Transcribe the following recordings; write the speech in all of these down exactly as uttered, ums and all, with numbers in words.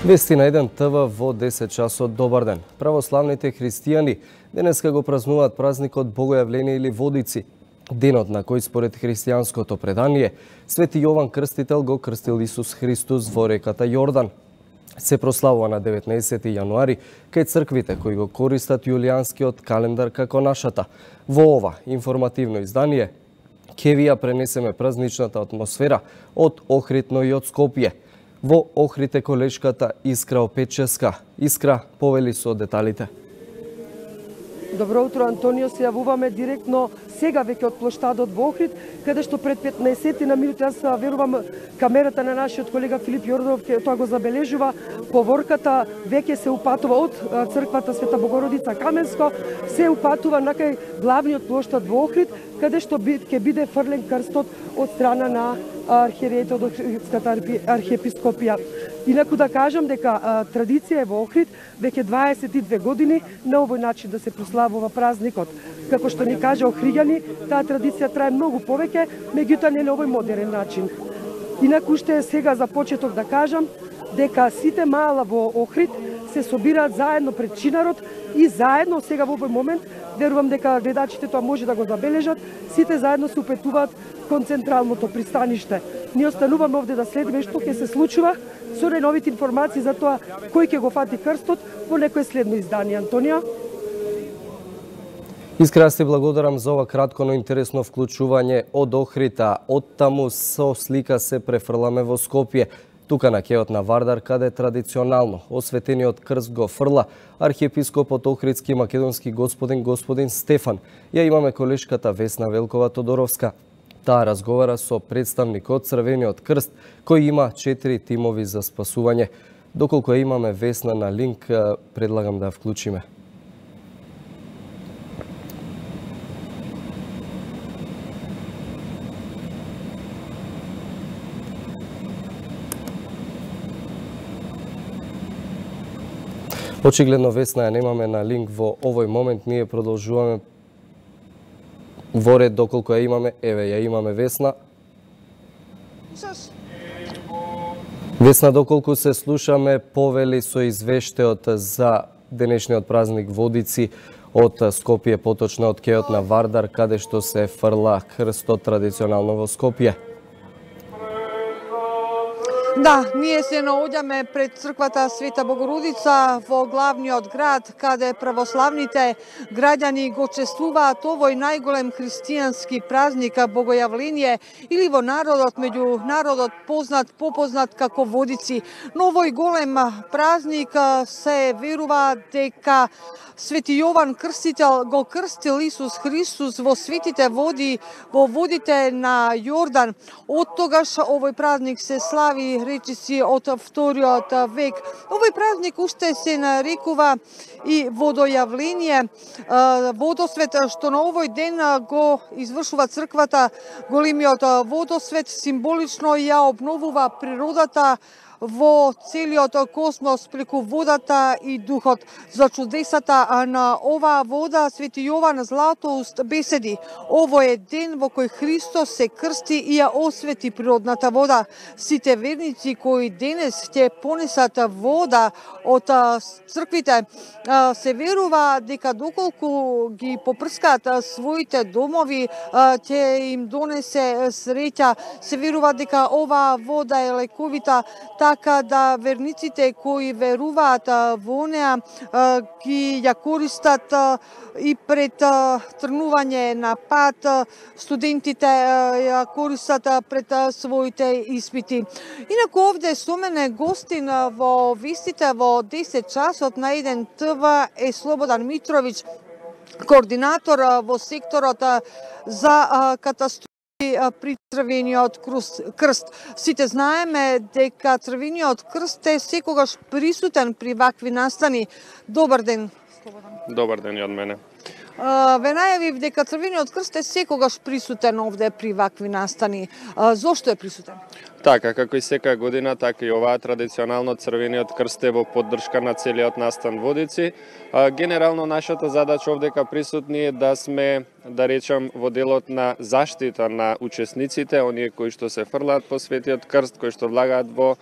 Вести на еден ТВ во десет часот. Добар ден. Православните христијани денеска го празнуваат празникот Богојавление или Водици, денот на кој според христијанското предание Свети Јован Крстител го крстил Исус Христос во реката Јордан. Се прославува на деветнаесети јануари кај црквите кои го користат јулијанскиот календар како нашата. Во ова информативно издание ќе ви ја пренесеме празничната атмосфера од Охрид, но и од Скопје. Во Охрид е колешката Искра Опеческа. Искра, повели со деталите. Добро утро, Антонио. Се јавуваме директно сега веќе од плоштадот во Охрид, каде што пред петнаесет на минути, јас верувам камерата на нашиот колега Филип Јорданов ќе тоа го забележува, поворката веќе се упатува од црквата Света Богородица Каменско, се упатува на кај главниот плоштад во Охрид, каде што ќе биде фрлен крстот од страна на архиерејот од Охридската архиепископија. Инаку да кажам дека а, традиција е во Охрид веќе дваесет и две години на овој начин да се прославува празникот. Како што ни кажа Охриѓани, таа традиција трае многу повеќе, меѓутоа не на овој модерен начин. Инаку уште сега за почеток да кажам дека сите маала во Охрид се собираат заедно пред чинарот и заедно сега во овој момент, верувам дека гледачите тоа може да го забележат, сите заедно се упетуваат кон централното пристаниште. Ние остануваме овде да следиме што ќе се случува со најновите информации за тоа кој ќе го фати крстот во некое следно издание. Антонио? Искра, се благодарам за ова кратко, но интересно вклучување од Охрита. Од таму со слика се префрламе во Скопје. Тука на кеот на Вардар, каде традиционално осветениот крст го фрла архиепископот Охридски македонски господин господин Стефан. Ја имаме колешката Весна Велкова Тодоровска. Таа разговара со представник од Црвениот крст, кој има четири тимови за спасување. Доколку ја имаме Весна на линк, предлагам да ја вклучиме. Очигледно Весна ја немаме на линк во овој момент. Ние продолжуваме во ред доколку ја имаме. Еве, ја имаме Весна. Весна, доколку се слушаме, повели со извештајот за денешниот празник Водици од Скопје, поточно од кеот на Вардар, каде што се фрла крстот традиционално во Скопје. Да, ние се наоѓаме пред црквата Света Богородица во главниот град, каде православните граѓани го чествуваат овој најголем христијански празник Богојавление или во народот, меѓу народот познат, попознат како Водици. Но овој голем празник се верува дека Свети Јован Крстител го крстил Исус Христос во светите води, во водите на Јордан. Од тогаш овој празник се слави речиси од вториот век. Овој празник уште се нарекува и водојавление, водосвет, што на овој ден го извршува црквата. Големиот водосвет символично ја обновува природата во целиот космос преку водата и духот. За чудесата на оваа вода Свети Јован Златоуст беседи: овој е ден во кој Христос се крсти и ја освети природната вода. Сите верници кои денес ќе понесат вода од црквите, се верува дека доколку ги попрскаат своите домови, ќе им донесе среќа. Се верува дека оваа вода е лековита, така да верниците кои веруваат во неа ги ја користат и пред тргнување на пат, студентите ја користат пред своите испити. Инаку овде со мене гостин во вестите во десет часот на еден ТВ е Слободан Митровиќ, координатор во секторот за катастрофи при Црвениот крст. Сите знаеме дека Црвениот крст е секогаш присутен при вакви настани. Добар ден, Слободан. Добар ден и од мене. Ве најавив дека Црвениот крст е секогаш присутен овде при вакви настани. Зошто е присутен? Така, како и секоја година, така и оваа традиционално Црвениот крст е во поддршка на целиот настан Водици. Генерално нашата задача овдека присутни е да сме, да речам, во делот на заштита на учесниците, оние кои што се фрлаат по Светиот крст, кои што влагаат во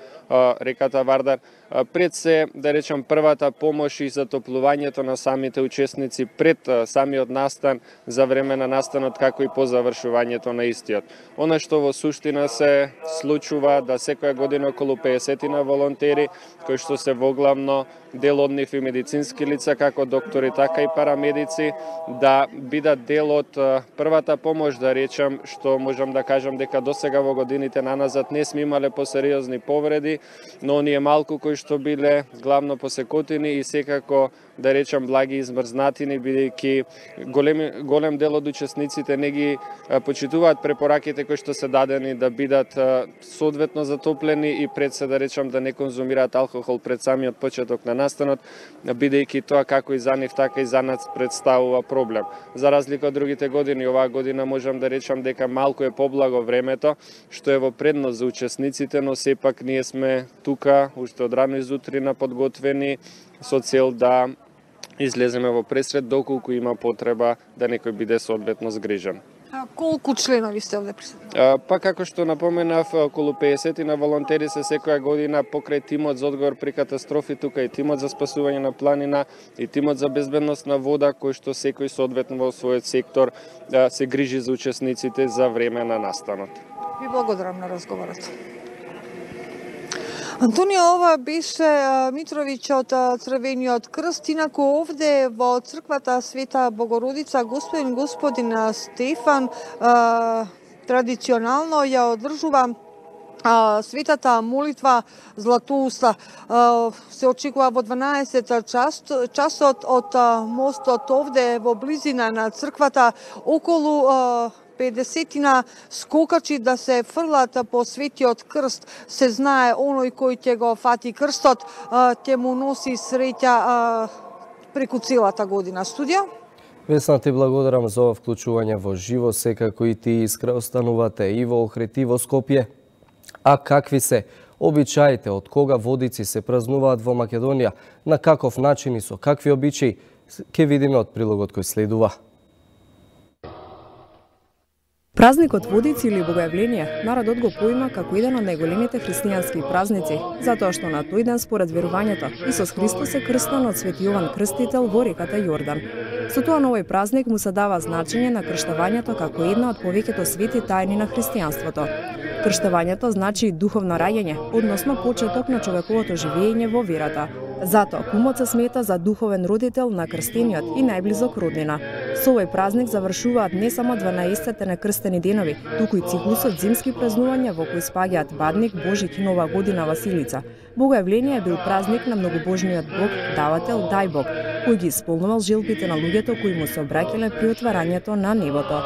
реката Вардар. Пред се, да речам, првата помош и затоплувањето на самите учесници пред самиот настан, за време на настанот, како и по завршувањето на истиот. Она што во суштина се случува да секоја година околу педесет на волонтери, кои што се воглавно дел од нив и медицински лица, како доктори, така и парамедици, да бидат дел од првата помош, да речам, што можам да кажам дека досега во годините наназад не сме имале посериозни повреди, но оние малку кои што биле главно посекотини и секако, да речам, благи измрзнатини, бидејќи голем, голем дел од учесниците не ги почитуваат препораките кои што се дадени да бидат соодветно затоплени и пред се, да речам, да не конзумираат алкохол пред самиот почеток на настанот, бидејќи тоа како и за нив, така и за нас представува проблем. За разлика од другите години, оваа година можам да речам дека малку е поблаго времето, што е во предност за учесниците, но сепак ние сме тука уште од рано изутрина подготвени со цел да излеземе во пресред доколку има потреба да некој биде соодветно згрижен. А колку членови сте овде присутни? Па како што напоменав, околу педесет на волонтери се секоја година покрај тимот за одговор при катастрофи, тука и тимот за спасување на планина и тимот за безбедност на вода, кој што секој соодветно во својот сектор се грижи за учесниците за време на настанот. Ви благодарам на разговорот. Антонио, ова беше Митровиќ од Црвениот крст. Инаку овде во црквата Света Богородица господин господин Стефан традиционално ја одржува светата молитва Златоуста. Се очекува во дванаесет часот од мостот овде во близина на црквата. Околу педесетина скокачи да се фрлат по Светиот крст. Се знае, оној кој ќе го фати крстот, ќе му носи среќа преку целата година. Студија? Весна, ти благодарам за ова вклучување во живо, секако и ти Искра останувате и во Охрид и во Скопје. А какви се обичаите, од кога водици се празнуваат во Македонија, на каков начин и со какви обичаи, ќе видиме од прилогот кој следува. Празникот Водици или Богојавление народот го поима како еден од најголемите христијански празници, затоа што на тој ден според верувањето Исус Христос е крстен од Свети Јован Крстител во реката Јордан. Со тоа на овој празник му се дава значење на крштавањето како една од повеќето свети тајни на христијанството. Крштавањето значи духовно раѓање, односно почеток на човековото живење во верата. Затоа кумот се смета за духовен родител на крстениот и најблизок роднина. Со овој празник завршуваат не само дванаесетте некрстени денови, туку и циклусот зимски празнувања во кои спаѓаат Бадник, Божик и Нова година Василица. Богојавление бил празник на многобожниот Бог, давател Дајбог, кој ги исполнувал желбите на луѓето кои му се обраќале при отварањето на небото.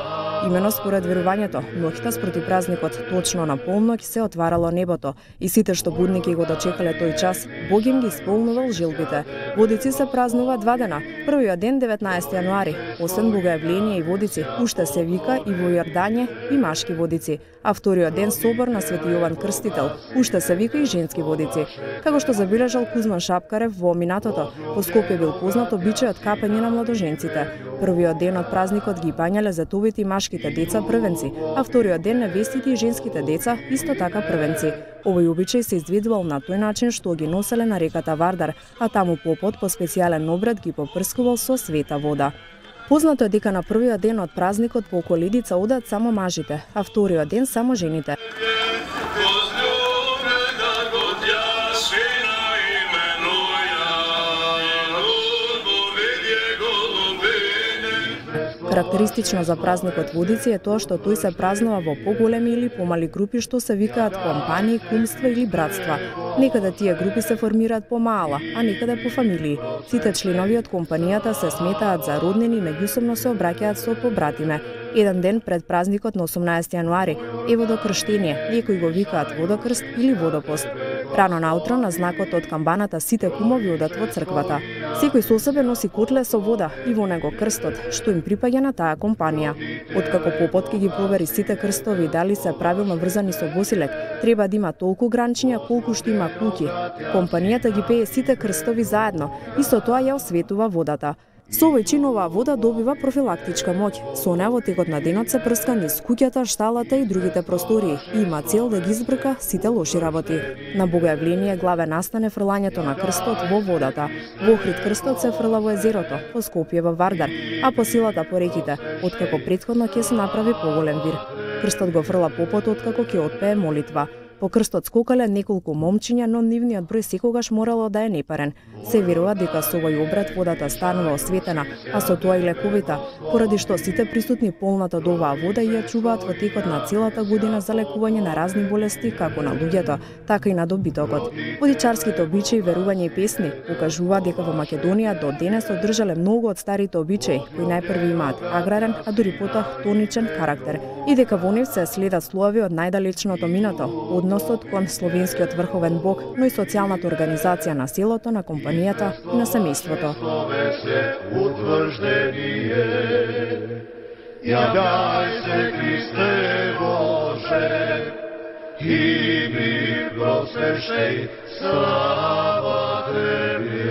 Имено според верувањето, ноќта спроти празникот точно на полноќ се отварало небото и сите што будники го дочекале тој час, Бог им ги исполнувал желбите. Водици се празнува два дена. Првиот ден деветнаесети јануари, освен Богојавление и Водици, уште се вика и во Јордање и машки водици, а вториот ден собор на Свети Јован Крстител, уште се вика и женски водици. Како што забележал Кузман Шапкарев во минатото, по Скопје бил познат обичајот капање на младоженците. Првиот ден од празникот ги бањале зетовите и машките деца првенци, а вториот ден невестите и женските деца исто така првенци. Овој обичај се изведувал на тој начин што ги носеле на реката Вардар, а таму попот по специјален обред ги попрскувал со света вода. Познато е дека на првиот ден од празникот по Колидица одат само мажите, а вториот ден само жените. Карактеристично за празникот Водици е тоа што тој се празнува во поголеми или помали групи што се викаат компании, кумства или братства. Некаде тие групи се формираат помала, а некаде по фамилии. Сите членови од компанијата се сметаат за роднини и меѓусобно се обраќаат со побратиме. Еден ден пред празникот на осумнаесети јануари е водокрштение, некои го викаат водокрст или водопост. Рано наутро на знакот од камбаната сите кумови одат во црквата. Секој со себе носи котле со вода и во него крстот, што им припаѓа на таа компанија. Откако попот ќе ги провери сите крстови дали се правилно врзани со босилек, треба да има толку гранчиња колку што има куќи. Компанијата ги пее сите крстови заедно и со тоа ја осветува водата. Со овој чин оваа вода добива профилактичка моќ. Со неа во текот на денот се прска низ куќата, шталата и другите простории и има цел да ги избрка сите лоши работи. На Богојавление главе настане фрлањето на крстот во водата. Во Охрид крстот се фрла во езерото, по Скопје во Вардар, а по Силата по реките, откако претходно ќе се направи поголем вир. Крстот го фрла попот откако ќе отпее молитва. По крстот скокале неколку момчиња, но нивниот број секогаш морало да е непарен. Се верува дека со овој обред водата станува осветена, а со тоа и лековита, поради што сите присутни полната до оваа вода и ја чуваат во текот на целата година за лекување на разни болести, како на луѓето, така и на добитокот. Водичарските обичаи, верувања и песни покажуваат дека во Македонија до денес одржале многу од старите обичаи, кои најпрви имаат аграрен, а дури потоа хтоничен карактер, и дека во нив се следат слоеви од најдалечното минато, односот кон словенскиот врховен бог, но и социјалната организација на селото, на компанијата и на семејството. Ја дај се Христе Боже, и ми просвещај слава Тебе.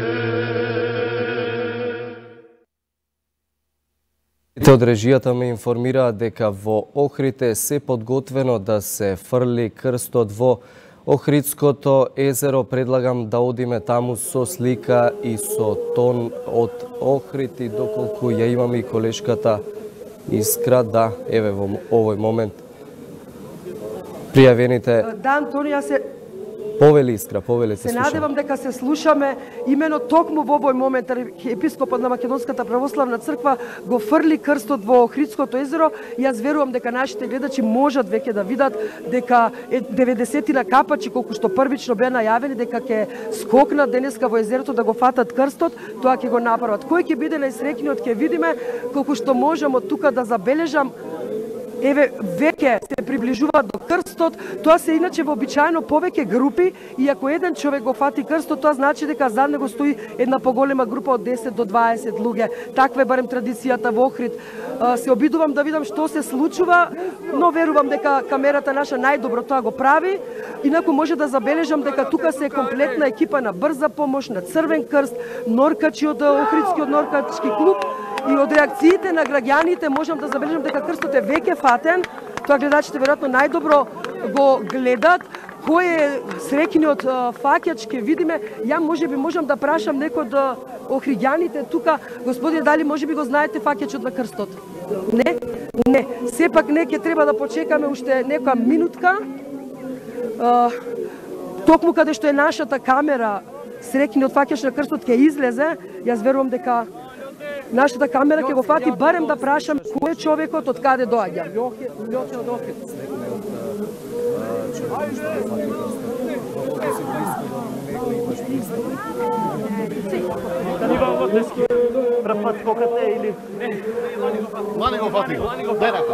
Те од режијата ме информираат дека во Охрид е се подготвено да се фрли крстот во Охридското езеро. Предлагам да одиме таму со слика и со тон од Охрид и доколку ја имаме и колешката Искра, да, еве во овој момент пријавените. Да, Антонија, се Повели Искра, повели се слушаме. Се надевам дека се слушаме имено токму во овој момент епископот на Македонската православна црква го фрли крстот во Охридското езеро. Јас верувам дека нашите гледачи можат веќе да видат дека деветдесетина капачи колку што првично беа најавени дека ќе скокнат денеска во езерото да го фатат крстот, тоа ќе го направат. Кој ќе биде најсреќниот ќе видиме, колку што можам од тука да забележам. Еве, веќе се приближуваат до крстот, тоа се иначе вообичаено повеќе групи, и ако еден човек го фати крстот, тоа значи дека зад него стои една поголема група од десет до дваесет луѓе. Таква е барем традицијата во Охрид. Се обидувам да видам што се случува, но верувам дека камерата наша најдобро тоа го прави. Инаку може да забележам дека тука се е комплетна екипа на брза помош, на Црвен крст, норкачи од Охридскиот норкачки клуб. И од реакциите на граѓаните можам да забележам дека крстот е веќе фатен. Тоа гледачите веројатно најдобро го гледат. Кој е среќниот фаќач ќе видиме. Ја можеби можам да прашам некој од охриѓаните тука, господине, дали можеби го знаете фаќачот на крстот? Не? Не. Сепак не, ќе треба да почекаме уште некоја минутка. Токму каде што е нашата камера, среќниот фаќач на крстот ќе излезе. Јас верувам дека нашата камера ќе го фати, барем да прашам кој е човекот, од каде доаѓа. Лјоте од Охрид. Иван Лотески, прв пат скокате или? Не, Лани го фати. Дај рака.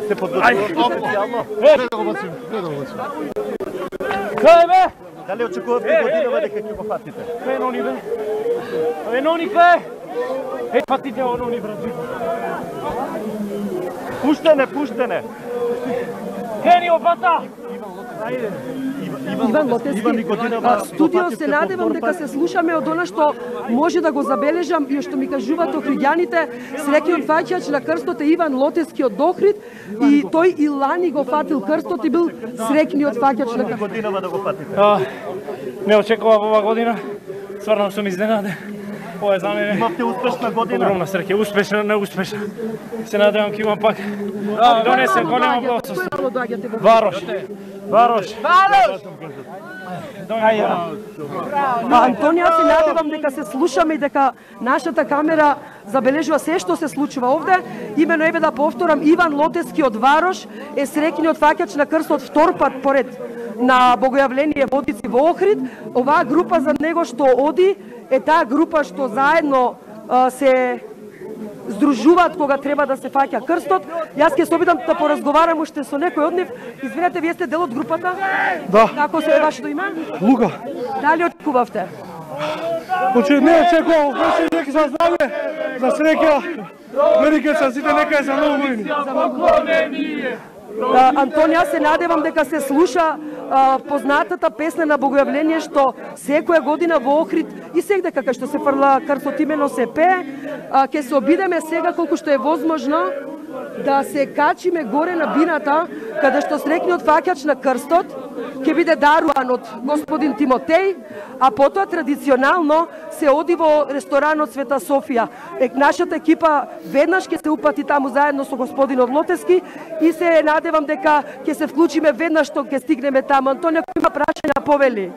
Се подготвувате специјално? Не да го бацим, не да го бацим. Кај бе? Дали очекувате годинава дека ќе го фатите? Кај нони бе? Кај нони бе? Е, фатите оно ни брат. Пуштене, пуштене. Кени опата. Ајде. Иван Лотески, студио се надевам дека се слушаме од она што може да го забележам и што ми кажуваат охриѓаните. Среќниот фаќач на крстот е Иван Лотески од Охрид и тој и лани го фатил крстот и бил среќниот фаќач на крстот. Годинава да го фатите? Не очекував ова година. Стварно сум изненаден. Ова е за мене. Имавте успешна година. Огромна среќа, успешна, неуспешна. Се надевам ќе имам пак. Донесем голема благослов. Варош. Варош. Варош. Антонија, се надевам дека се слушаме и дека нашата камера забележува се што се случува овде. Имено еве да повторам, Иван Лотески од Варош е среќниот фаќач на крстот втор пат поред на Богојавление Водици во Охрид. Оваа група за него што оди е таа група што заедно а, се здружуваат кога треба да се фаќа крстот. Јас ќе се обидам да поразговарам уште со некој од нив. Извинете, вие сте дел од групата? Да. Како се е вашето име? Лука. Дали очекувавте? Почи не очекував, беше дека се здраве, за среќа, Америка са сите нека е за многу години. Антонија, се надевам дека се слуша а, познатата песна на Богојавление што секоја година во Охрид и сегде како што се фрла крстот имено се пее, а, ќе се обидеме сега колку што е возможно да се качиме горе на бината каде што срекниот фаќач на крстот ќе биде даруван од господин Тимотеј, а потоа традиционално се оди во ресторанот Света Софија. Е, нашата екипа веднаш ќе се упати таму заедно со господинот Лотески и се надевам дека ќе се вклучиме веднаш што ќе стигнеме таму. Антонија, кој има прашања, повели?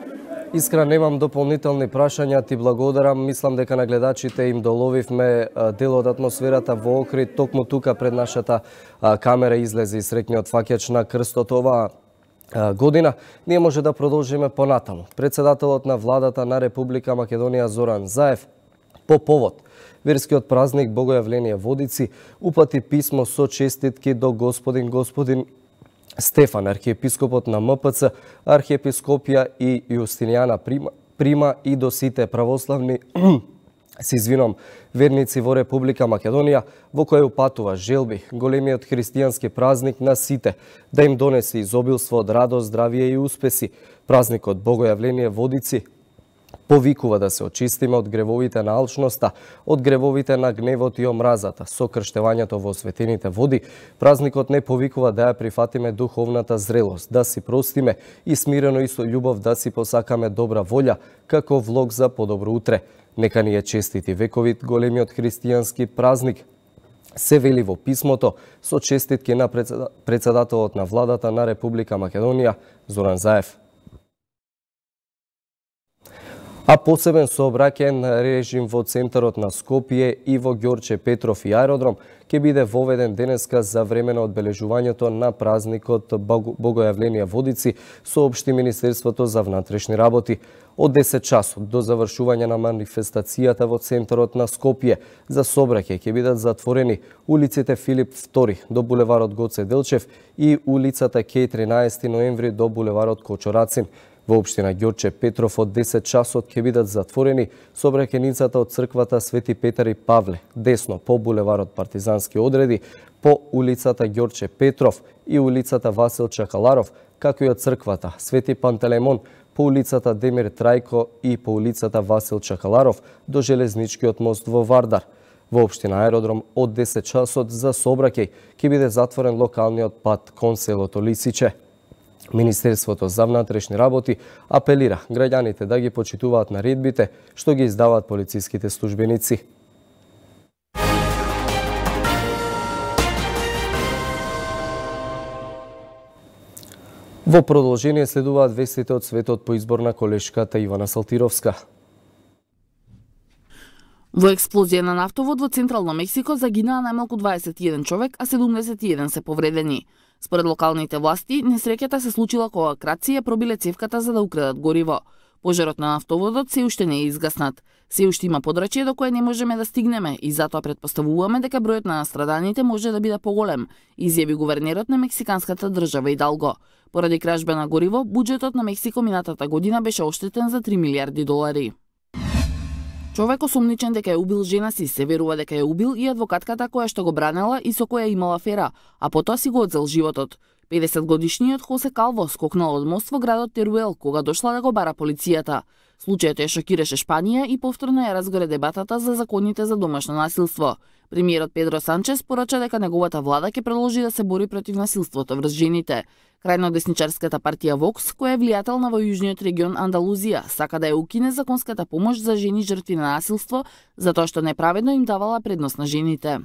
Искра, немам дополнителни прашања, ти благодарам. Мислам дека на гледачите им доловивме дел од атмосферата во Охрид. Токму тука пред нашата камера излезе и срекниот фаќач на крстот оваа година. Ние може да продолжиме понатаму. Председателот на владата на Република Македонија Зоран Заев по повод верскиот празник Богојавление Водици упати писмо со честитки до господин господин Стефан, архиепископот на М П Ц, архиепископија и Јустинијана Прима, Прима и до сите православни се извинувам, верници во Република Македонија, во која упатува желби големиот христијански празник на сите да им донесе изобилство од радост, здравие и успеси. Празникот Богојавление Водици повикува да се очистиме од гревовите на алчноста, од гревовите на гневот и омразата. Со крштевањето во осветените води, празникот не повикува да ја прифатиме духовната зрелост, да си простиме и смирено и со љубов да си посакаме добра волја, како влог за подобро утре. Нека ни е честити вековит големиот христијански празник, се вели во писмото со честитки на председателот на владата на Република Македонија Зоран Заев. А посебен сообраќаен режим во центарот на Скопје и во Ѓорче Петров и аеродром ќе биде воведен денеска за време на одбележувањето на празникот Богојавление Водици, соопшти Министерството за внатрешни работи. Од десет часот до завршување на манифестацијата во центарот на Скопје за сообраќај ќе бидат затворени улиците Филип втори до булеварот Гоце Делчев и улицата Кеј тринаесети ноември до булеварот Кочорацин. Во општина Ѓорче Петров од десет часот ќе бидат затворени сообраќајницата од црквата Свети Петар и Павле, десно по булеварот Партизански одреди, по улицата Ѓорче Петров и улицата Васил Чакаларов, како и од црквата Свети Пантелеймон, по улицата Демир Трајко и по улицата Васил Чакаларов до железничкиот мост во Вардар. Во општина Аеродром од десет часот за сообраќај ќе биде затворен локалниот пат кон селото Лисиче. Министерството за внатрешни работи апелира граѓаните да ги почитуваат наредбите што ги издаваат полициските службеници. Во продолжение следуваат вестите од светот по избор на колешката Ивана Салтировска. Во експлозија на нафтовод во Централно Мексико загинаа најмалку дваесет и еден човек, а седумдесет и еден се повредени. Според локалните власти, несреќата се случила кога крадци ја пробиле цевката за да украдат гориво. Пожарот на нафтоводот се уште не е изгаснат. Се уште има подрачје до кое не можеме да стигнеме и затоа претпоставуваме дека бројот на настраданите може да биде поголем, изјави гувернерот на мексиканската држава Идалго. Поради кражба на гориво, буџетот на Мексико минатата година беше оштетен за три милиарди долари. Човек осомничен дека е убил жена си, се верува дека е убил и адвокатката која што го бранела и со која имала афера, а потоа си го одзел животот. педесет годишниот Хосе Калво скокнал од мост во градот Теруел кога дошла да го бара полицијата. Случајот ја шокираше Шпанија и повторно ја разгоре дебатата за законите за домашно насилство. Премиерот Педро Санчес порача дека неговата влада ќе продолжи да се бори против насилството врз жените. Крајно десничарската партија Вокс, која е влијателна во јужниот регион Андалузија, сака да ја укине законската помош за жени жртви на насилство, затоа што неправедно им давала предност на жените.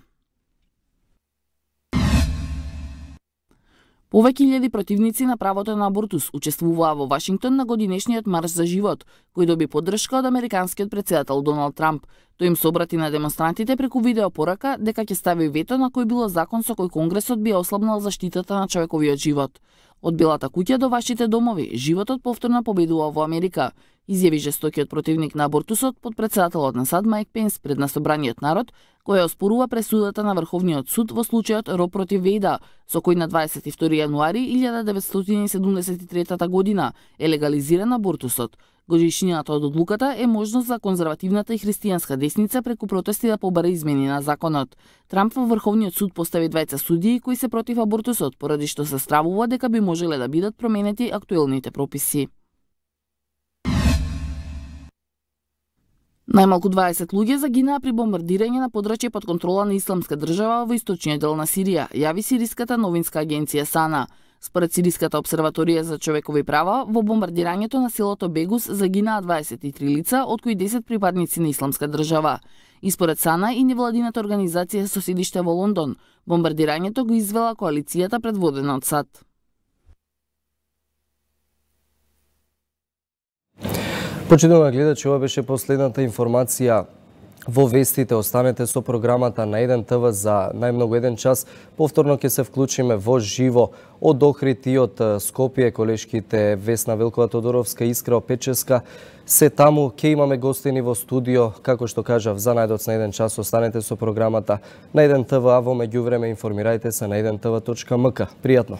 Повеќе илјади противници на правото на абортус учествуваа во Вашингтон на годинешниот марш за живот, кој доби поддршка од американскиот председател Доналд Трамп. Тој им се обрати на демонстрантите преку видеопорака дека ќе стави вето на кој било закон со кој Конгресот би ослабнал заштитата на човековиот живот. Од Белата куќа до вашите домови, животот повторно победува во Америка. изјави жестокиот противник на абортусот потпредседателот на САД Мајк Пенс пред на собраниот народ, која оспорува пресудата на Врховниот суд во случајот Ро против Вејда, со кој на дваесет и втори јануари илјада деветстотини седумдесет и трета година е легализиран абортусот. Годишнината од одлуката е можност за конзервативната и христијанска десница преку протести да побара измени на законот. Трамп во Врховниот суд постави двајца судии кои се против абортусот, поради што се стравува дека би можеле да бидат променети актуелните прописи. Најмалку дваесет луѓе загинаа при бомбардирање на подрачје под контрола на Исламска држава во источниот дел на Сирија, јави сириската новинска агенција САНА. Според Сириската обсерваторија за човекови права, во бомбардирањето на селото Бегус загинаа дваесет и три лица, од кои десет припадници на Исламска држава. И според САНА и невладината организација со седиште во Лондон, бомбардирањето го извела коалицијата предводена од САД. Почитувани гледачи, ова беше последната информација во вестите. Останете со програмата на еден ТВ за најмногу еден час. Повторно ќе се вклучиме во живо од Охрид и од Скопје. Колешките Весна Велкова Тодоровска и Искра Печеска се таму. Ќе имаме гостини во студио. Како што кажав, за најдоц на еден час останете со програмата на еден ТВ, а во меѓувреме информирајте се на еден тв точка ем ка. Пријатно!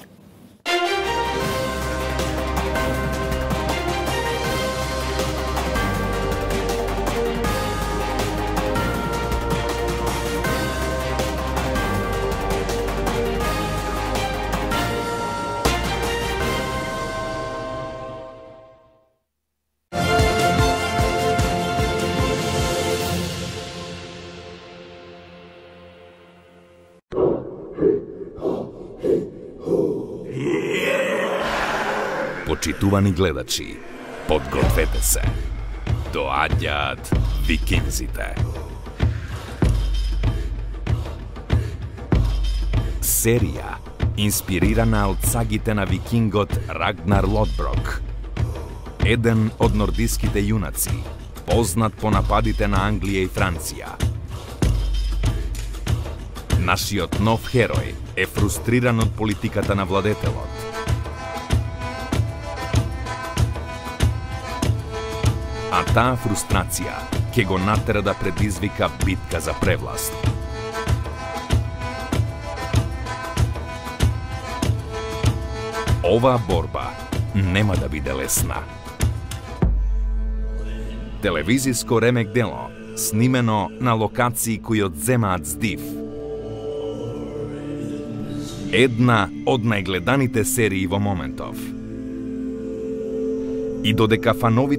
Почитувани гледачи, подгответе се. Доаѓаат викинзите. Серија инспирирана од сагите на викингот Рагнар Лодброк. Еден од нордиските јунаци, познат по нападите на Англија и Франција. Нашиот нов херој е фрустриран од политиката на владетелот. А таа фрустрација ќе го натера да предизвика битка за превласт. Оваа борба нема да биде лесна. Телевизиско ремек дело, снимено на локации кои одземаат здив. Една од најгледаните серии во моментов. И додека фановите